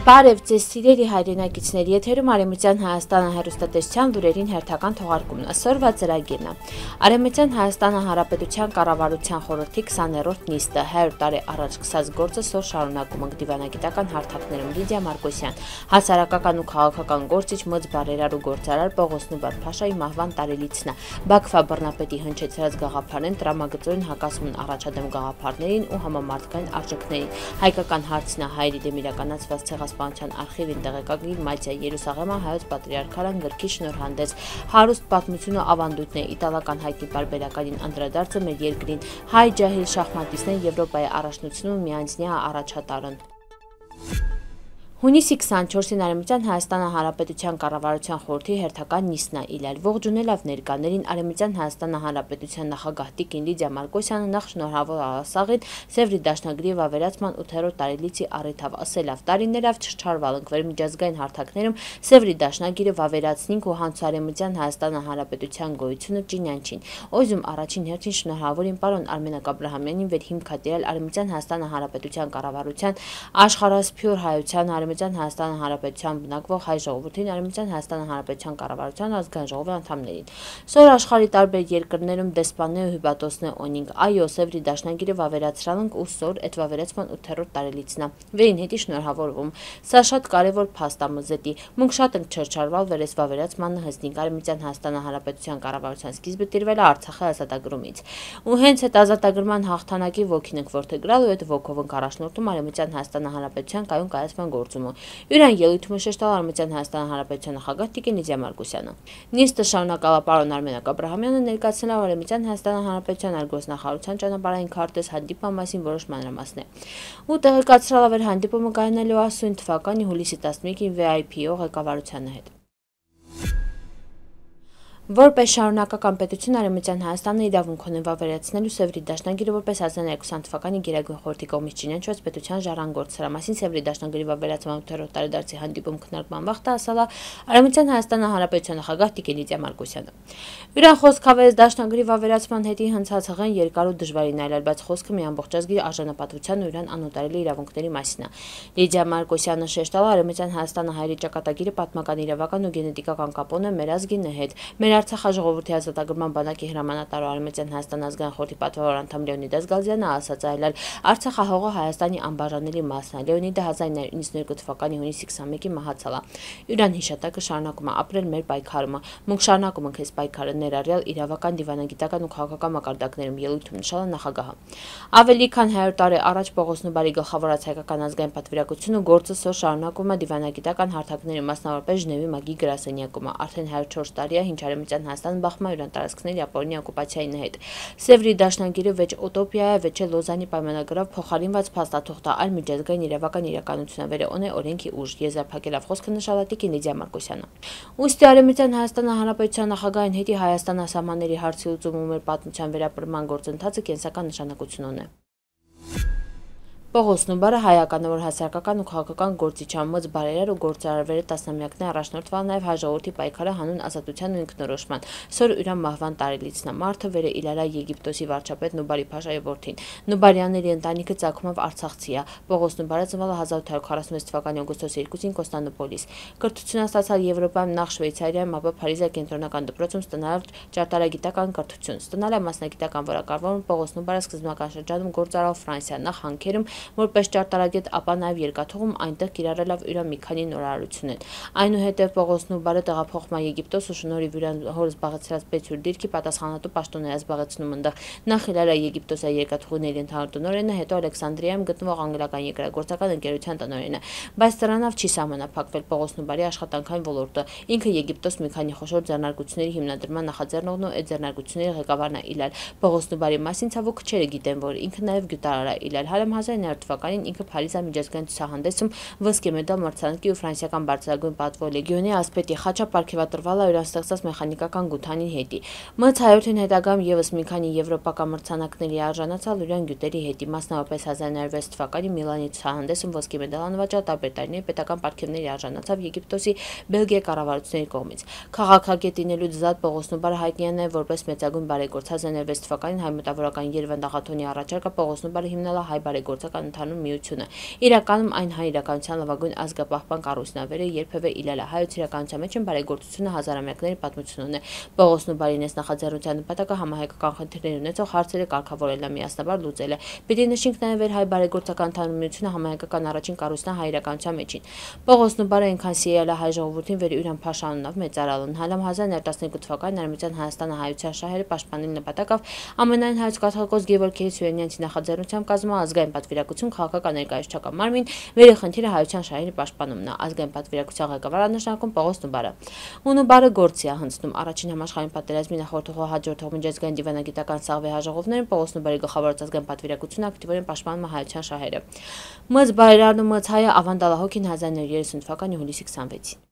Բարև ձեզ սիրելի հայրենակիցներ, եթերում Արևմտյան Հայաստանը հեռուստատեսության լուրերին հերթական թողարկումն է։ Սորվա ծրագիրն է։ Արևմտյան Հայաստանը Հանրապետության կառավարության խորհրդի 20-րդ նիստը 100 տարի առաջ սկսած գործը սոր շարունակում ենք դիվանագիտական հարթակներում Լիդիա Մարկոսյան, հասարակական ու քաղաքական գործիչ Մծ բարերար ու գործարար Պողոս Նուբար Փաշայի մահվան տարելիցն է։ Բաքվա բռնապետի հնչեցրած գաղափարեն տրամագծորեն հակասում են առաջադեմ գաղափարներին ու համամարտկային արժեքներին։ Հայկական հարցն է հայերի դեմ իրականացված ցեղասպանության արխիվին տեղեկագիր Մատիա Երուսաղեմը հայոց պատրիարքարան գրքի շնորհանդես հարուստ պատմություն ու ավանդույթն է իտալական հայտնի բարբերականին անդրադարձը մեր երկրին հայ ջահիլ շախմատիստներ Եվրոպայի առաջնությունում միանձնյա առաջատարն Հունիսի 24-ին Արևմտյան Հայաստանը Հանրապետության կառավարության խորհրդի հերթական նիստն է իլել։ Ողջունելով ներկաներին Արևմտյան Հայաստանը Հանրապետության նախագահ Տիկին Լիդիա Մարկոսյանը նախ շնորհավոր ասաղին Սևրի դաշնագրի վավերացման 8-րդ տարելիցի առիթով ասելով տարիներով չչարվալ ենք միջազգային հարթակներում Սևրի դաշնագիրը վավերացնինք ու հանց Արևմտյան Հայաստանը Հանրապետության գոյությունը ճինյանչին։ Օզում առաջին հերթին շնորհավորին պարոն Արմենակ Աբրահամյանին վեր հիմք հատել Արևմտյան Հայաստանը Հանրապետության կառավարության աշխարհասփյուր հայության Արևմտյան Հայաստանը Հանրապետության բնակվող հայ ժողովրդին Արևմտյան Հայաստանը Հանրապետության կառավարության ազգային ժողովի անդամներին։ Սոր աշխարհի տարբեր երկրներում դեսպաններ ու հյուպատոսներ ունենք։ Այո, Սևրի դաշնագիրը վավերացրել ենք ու սոր այդ վավերացման 8-րդ տարելիցն է։ Վերին հետի շնորհավորվում։ Սա շատ կարևոր փաստ է մզետի։ Մենք շատ ենք չրչարվել վերես վավերացմանը հստիկ Արևմտյան Հայաստանը Հանրապետության կառավարության սկիզբը տիրվել է Արցախի ազատագրումից։ Ու հենց այդ ազատագրման հաղթանակի ոգին ենք ворթեգրալ ու այդ ոգով ենք առաջնորդում Արևմտյան Հայաստանը Հանրապետության կայուն կայացման Յուրան ելույթում շեշտալ Արևմտյան Հայաստան Հանրապետության նախագահ Տիկին Լիդիա Մարկոսյանը։ Նիստը շարունակալա պարոն Արմենակ Աբրահամյանը ներկայացնել Արևմտյան Հայաստան Հանրապետության արգոսնախարարության ճանապարհային քարտեզ հանդիպման մասին որոշ մանրամասներ։ Ու տեղեկացրել ավեր հանդիպումը կայանալու ասույն թվականի հուլիսի 11-ին VIP-ով ղեկավարության հետ։ Որպես շարունակական պետություն Արևմտյան Հայաստանը իրավունք ունի վավերացնելու Սևրի դաշնագիրը որպես 2020 թվականի Գերագույն խորհրդի կողմից ճինանչված պետության ժառանգորդ սրա մասին Սևրի դաշնագրի վավերացման 8-րդ տարեդարձի հանդիպում քննարկման վաղ ասալա Արևմտյան Հայաստանը Հանրապետության նախագահ Տիկին Լիդիա Մարկոսյանը։ Յուրան խոսքավերեց դաշնագրի վավերացման հետի հնցածղեն երկար ու դժվարին այլել, բայց խոսքը մի ամբողջ ազգի արժանապատվության ու յուրան անուտարելի իրավունքների մասին է։ Լիդիա Մարկոսյանը շեշտала Արևմտյան Հայաստանը հայերի ճակատագիրը պատմական իրավական ու գենետիկական կապ ունի մեր ազգի հետ։ Մեր Արցախի ժողովրդի ազատագրման բանակի հրամանատար Արևմտյան Հայաստան ազգային խորհրդի պատվավոր անդամ Լեոնիդ Գալզյանը ասաց այլալ Արցախահողը Հայաստանի անբաժանելի մասն է։ Լեոնիդը 1992 թվականի հունիսի 21-ին մահացել է։ Յուրան հիշատակը շարունակում է ապրել մեր պայքարումը։ Մենք շարունակում ենք այս պայքարը ներառյալ իրավական, դիվանագիտական ու քաղաքական մակարդակներում ելույթում նշել է նախագահը։ Ավելի քան 100 տարի առաջ Պողոս Նուբարի գլխավորած հայկական ազգային պատվիրակությունը գործը սոր շարունակում է դիվանագիտական հարթակների մասնավորապես Ժնևի մագի գրասենյակում։ Արդեն 104 տարի է ինչ Արևմտյան Հայաստանը բախվում է յուրան տարածքների Ապօրինի օկուպացիայի հետ։ Սևրի դաշնագիրը վեճ ուտոպիա է, վեճ Լոզանի պայմանագրով փոխարինված փաստաթուղթ է, այլ միջազգային իրավական իրականություն է, վերոնե օրենքի ուժ, եզրափակելով խոսքը նշել է Տիկին Լիդիա Մարկոսյանը։ Ուստի Արևմտյան Հայաստանը Հանրապետության նախագահին հետի Հայաստան սահմանների հարցի լուծում ու մեր պատմության վերապրման գործընթացը կենսական նշանակություն ունի։ Պողոս Նուբարը հայականավոր հասարակական ու քաղաքական գործիչ Մծ բարերար ու գործարարվերը տասնամյակներ առաջնորդվել նաև հայ ժողովրդի պայքարը հանուն ազատության ու ինքնորոշման։ Սոր յուրան մահվան տարելիցն է։ Մարդը վերը իլարա Եգիպտոսի վարչապետ Նուբարի Փաշայի որդին։ Նուբարյանների ընտանիքը ցակումով Արցախցի է։ Պողոս Նուբարը ծնվել է 1846 թվականի օգոստոսի 2-ին Կոստանդնուպոլիս։ Կրթություն ստացալ Եվրոպայում նախ Շվեյցարիայում, ապա Փարիզի կենտրոնական դպրոցում ստանալով ճարտարագիտական կրթություն։ Ստանալ է մասնագիտական որակավորում Պողոս Նուբարը սկզբնական շրջանում գործարավ Ֆրանսիա, նախ Հանքերում որպես ճարտարագետ, ապա նաև երկաթուղում այնտեղ կիրառելով իր մի քանի նորարարություններ։ Այնուհետև Պողոս Նուբարը տեղափոխվում է Եգիպտոս ու շնորհիվ իր հոր զբաղեցրած պետյურ դիրքի պատասխանատու պաշտոն է զբաղեցնում այնտեղ։ Նախ իլարա Եգիպտոսի երկաթուղիների ընդհանուր տնօրենը, հետո Ալեքսանդրիայում գտնվող անգլիական երկրագործական ընկերության տնօրենը։ Բայց դրանով չի սահմանափակվել Պողոս Նուբարի աշխատանքային ոլորտը։ Ինքը Եգիպտոս մի քանի խոշոր ձեռնարկությունների հիմնադրման նախաձեռնողն ու այդ ձեռնարկությունների ղեկավարն է իլալ։ Պողոս Նուբարի մասին ցավոք քչերը գիտեն, որ ինքը նաև գյուտարար է իլալ։ Հարամ 1900 թվականին ինքը Փարիզի միջազգային ցուցահանդեսում ոսկե մեդալ մրցանակի ու ֆրանսիական բարձրագույն պատվո լեգիոնի ասպետի խաչը պարգևատրվել է իրան ստեղծած մեխանիկական գութանի հետի։ Մց հայորդին հետագայում եւս մի քանի եվրոպական մրցանակների արժանացալ իրան գյուտերի հետի, մասնավորապես 1906 թվականի Միլանի ցուցահանդեսում ոսկե մեդալ անվաճառ տարբեր տարիների պետական պարգևների արժանացավ Եգիպտոսի Բելգիա կառավարությունների կողմից։ Քաղաքագետինելուց զատ Պողոս Նուբարը հայտնի է նաև որպես մեծագույն բարեգործ 1906 թվականին հայ մտավորական Երվանդ Աղաթոնի առաջարկը Պողոս Նուբարը հիմնել է հայ բարեգործական հայ-կառավարական ընդհանուր միությունը։ Իրականում այն հայ իրականության լավագույն ազգապահպան կառույցն է, վերը երբևէ իլալահայոց իրականության մեջ բարեգործությունը հազարամյակների պատմություն ունի։ Պողոս Նուբարինես նախաձեռնության նպատակը համահայկական խնդիրներ ունեցող հարցերը կարգավորելն է, միասնաբար լուծելը։ Պիտի նշենք նաև հայ բարեգործական ընդհանուր միությունը համահայկական առաջին կառույցն է հայ իրականության մեջին։ Պողոս Նուբարը այնքան սիրել է հայ ժողովրդին, վեր ուրան փաշանունով մեծարալուն։ Հալամ 1912 թվականին Արմենիան Հայաստանը հայության շահերը պաշտպանելու նպատակով ամենայն հայոց կաթողիկոս Գևորգ Սուրյանյանցի նախաձեռնությամբ կազմում ազգային պատվիրակություն քաղաքական ներկայացուցչական մարմին, վերի խնդիրը հայության շահերի պաշտպանումն է։ Ազգային պատվիրակության ղեկավար նշանակում Պողոս Նուբարը։ Նուբարը գործի է հնձնում առաջին համաշխարհային պատերազմի նախորդող հաջորդող միջազգային դիվանագիտական սաղվի հաջողողներին Պողոս Նուբարի գլխավորած ազգային պատվիրակությունը ակտիվորեն պաշտպանում է հայության շահերը։ Մծ բայրարն ու մծ հայը ավանդալահոգին 1930 թվականի հուլիսի 26-ին։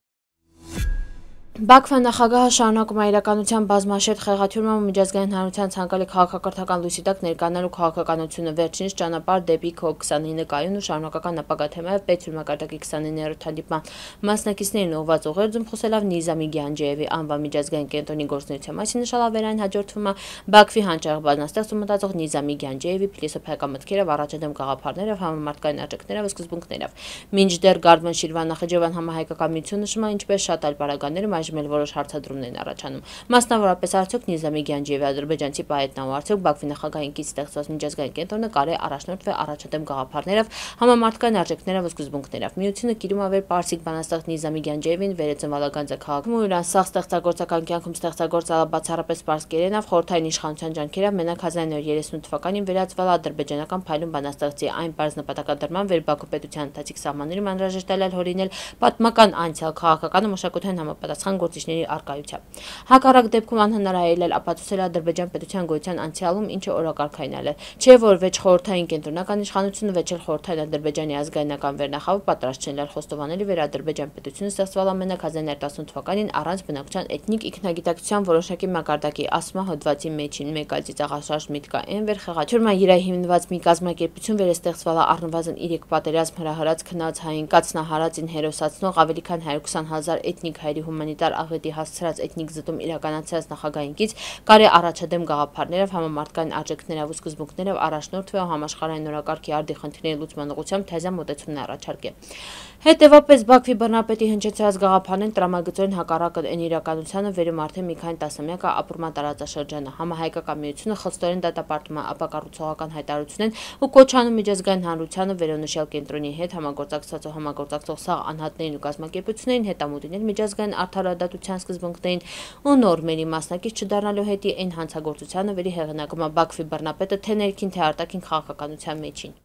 Բաքվա նախագահը շարունակում է իրականության բազմաշերտ խեղաթյուրման ու միջազգային հանրության ցանկալի քաղաքակրթական լույսի տակ ներկանալու քաղաքականությունը վերջինս ճանապարհ դեպի COP29 կայուն ու շարունակական ապագա թեմայով պետություն մակարդակի 29-րդ հանդիպման մասնակիցներին ուղղված ուղերձում խոսելով Նիզամի Գյանջեևի անվան միջազգային կենտրոնի գործունեության մասին նշել ավերային հաջորդվում է Բաքվի հանճարեղ բանաստեղծ ու մտածող Նիզամի Գյանջեևի փիլիսոփայական մտքերով առաջադեմ գաղափարներով համամարտկային աջակներով ու սկզբունքներով։ Մինչդեռ Գարդման Շիրվան Նախիջևյան համահայկական միությունը նշում է ինչպես շատ այլ պարագաներում այժմ որոշ հարցադրումներ են առաջանում։ Մասնավորապես արդյոք Նիզամի Գյանջեևի ադրբեջանցի պահետնա ու արդյոք Բաքվի նախագահային կից ստեղծված միջազգային կենտրոնը կարելի է առաջնորդվել առաջադեմ գաղափարներով, համամարտկային արժեքներով ու սկզբունքներով։ Միությունը կիրում ավեր պարսիկ բանաստեղծ Նիզամի Գյանջեևին վերածնվալագանձը քաղաքում ու իրան սաղ ստեղծագործական կյանքում ստեղծագործալա բացառապես պարսկերենով խորհրդային իշխանության ջանքերով մենակ 1938 թվականին վերածվել ադրբեջանական փայլուն բանաստեղծի այն պարզ նպատակադրման վեր Բաքու պետության ընթացիկ սահմաններում անհրաժեշտ է հորինել պատմական անցյալ քաղաքական ու մշակութային համապատասխան գործիչների արկայությամբ։ Հակառակ դեպքում անհնարայել է ապացուցել Ադրբեջան պետության գոյության անցյալում, ինչը օրակարգայնալ է։ Չէ որ վեճ խորհրդային կենտրոնական իշխանությունը վեճ էլ խորհրդային Ադրբեջանի ազգայնական վերնախավը պատրաստ չեն խոստովանելի վեր Ադրբեջան պետությունը ստեղծվել ամենակ 1918 թվականին առանց բնակչության էթնիկ ինքնագիտակցության որոշակի մակարդակի, ասում է հոդվածի մեջին։ Մեկ այլ ծիծաղաշարժ միտք կա այն վեր խեղաթյուրման իրայի հիմնված մի կազմակերպություն վեր ստեղծվել է առնվազն 3 պատերազմ հրահրած քնած հային կացնահարածին հերոսացնող ավելի քան 120,000 էթնիկ հայերի հումանիտար աղետի հասցրած էթնիկ զտում իրականացրած նախագահինքից կարի առաջադեմ գաղափարներով համամարտկային արժեքներով ու սկզբունքներով առաջնորդվել ու համաշխարհային նորակարգի արդի խնդիրների լուծման ուղղությամբ թեզան մոտեցումներ առաջարկել։ Հետևաբար Բաքվի բռնապետի հնչեցրած գաղափարներն տրամագծորեն հակառակ են իրականությանը վերում արդեն մի քանի տասնամյակ ապրման տարածաշրջանը։ Համահայկական միությունը խստորեն դատապարտում է ապակառուցողական հայտարարությունն ու կոչանում միջազգային հանրությանը վերոնշյալ կենտրոնի հետ համագործակցած ու համագործակցող սաղ անհատներին ու կազմակերպություններին հետամուտինել միջազգային արդարադատության սկզբունքներին ու նորմերի մասնակից չդառնալու հետի այն հանցագործությանը վերի հեղինակում է Բաքվի բռնապետը թե ներքին թե արտաքին քաղաքականության մեջին։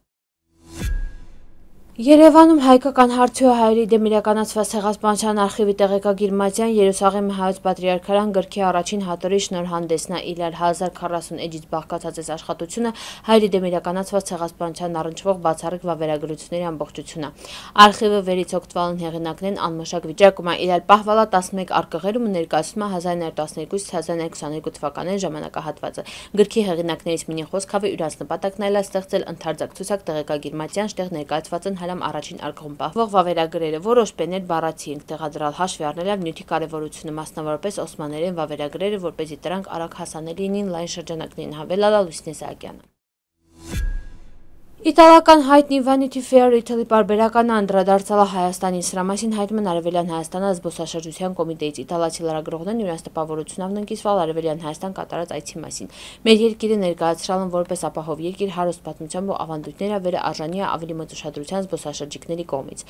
Երևանում հայկական հարցի ու հայերի դեմ իրականացված ցեղասպանության արխիվի տեղեկագիր Մատյան Երուսաղեմի հայոց պատրիարքարան գրքի առաջին հատորի շնորհանդեսն է իլալ 1040 էջից բաղկացած այս աշխատությունը հայերի դեմ իրականացված ցեղասպանության առնչվող բացառիկ վավերագրությունների ամբողջությունն է։ Արխիվը վերից օգտվալն հեղինակներն անմշակ վիճակում է իլալ պահվալա 11 արկղերում ու ներկայացնում է 1912-1922 թվականների ժամանակահատվածը։ Գրքի հեղինակներից մինի խոսքավը իրանց նպատակն այլ է ստեղծել ընդարձակ ցուցակ տեղեկագիր Մատյան շտեղ ներկայացված են հալամ առաջին արկղում պահվող վավերագրերը, որոշ բեներ բառացի ենք տեղադրալ հաշվի առնելով նյութի կարևորությունը, մասնավորապես օսմաներեն վավերագրերը, որպեսզի դրանք արագ հասանելի լինեն լայն շրջանակներին, հավելել Լուսինե Սահակյանը։ Իտալական հայտնի Vanity Fair Italy պարբերականը անդրադարձալ է Հայաստանին։ Սրա մասին հայտնում են Արևելյան Հայաստանը զբոսաշրջության կոմիտեից։ Իտալացի լրագրողներն իրենց տպավորությունով ննկիսվել Արևելյան Հայաստան կատարած այցի մասին։ Մեր երկիրը ներկայացրել են որպես ապահով երկիր հարուստ պատմությամբ ու ավանդույթները վերը արժանի է ավելի մեծ ուշադրության զբոսաշրջիկների կողմից։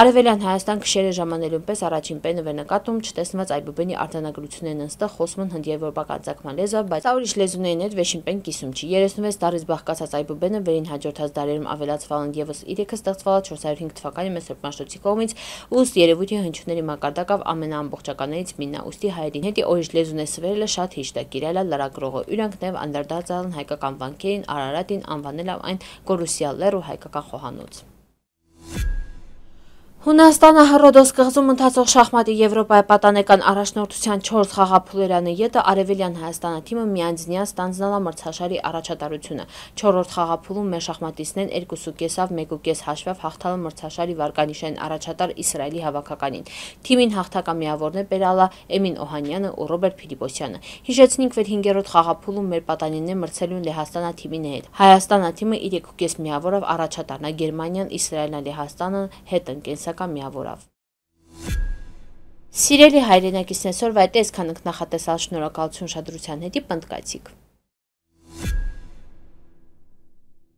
Արևելյան Հայաստան քշերը ժամանելուն պես առաջին պենը վերնկատում չտեսնված Այբուբենի արձանագրություններն ընստեղ խոսում են հնդիեվրոպական ծագման լեզվով, բայց ուրիշ լեզուներին հետ վերջին պեն կիսում չի։ 36 տարից բաղկացած Այբուբենը վերին հաջորդած դարերում ավելացվել են ևս 3-ը ստեղծվել 405 թվականի Մեսրոպ Մաշտոցի կողմից, ուստի երևույթի հնչյունների մակարդակով ամենաամբողջականներից մինն է, ուստի հայերին հետի օրիշ լեզուն է սվերելը շատ հիշտ է, կիրել է լրագրողը, իրանք նաև անդրադարձել են հայկական վանքերին, Արարատին, անվանել այն Կորուսյալ լեռ ու հայկական խոհանոց։ Հունաստանը Հռոդոս կղզում ընթացող շախմատի Եվրոպայի պատանեկան առաջնորդության 4 խաղափուլերանի ետը Արևելյան Հայաստանը թիմը միանձնյա ստանձնալա մրցաշարի առաջատարությունը։ 4-րդ խաղափուլում մեր շախմատիստներն 2.5-ով 1.5 հաշվով հաղթալը մրցաշարի վարկանիշային առաջատար Իսրայելի հավաքականին։ Թիմին հաղթակամիավորներ բերալա Էմին Օհանյանը ու Ռոբերտ Փիլիպոսյանը։ Հիշեցնենք, որ 5-րդ խաղափուլում մեր պատանիներն մրցելու են Լեհաստանա թիմի հետ։ Հայաստանա թիմը իր 2.5 միավորով առաջատարն է, Գերմանիան, Իսրայելն ու Լեհաստանը հետ են կենսական միավորով։ Սիրելի հայրենակիցներ, այսօրվա այդ այսքան ենք, նախատեսալ շնորհակալություն ուշադրության հետի, պնդկացիք։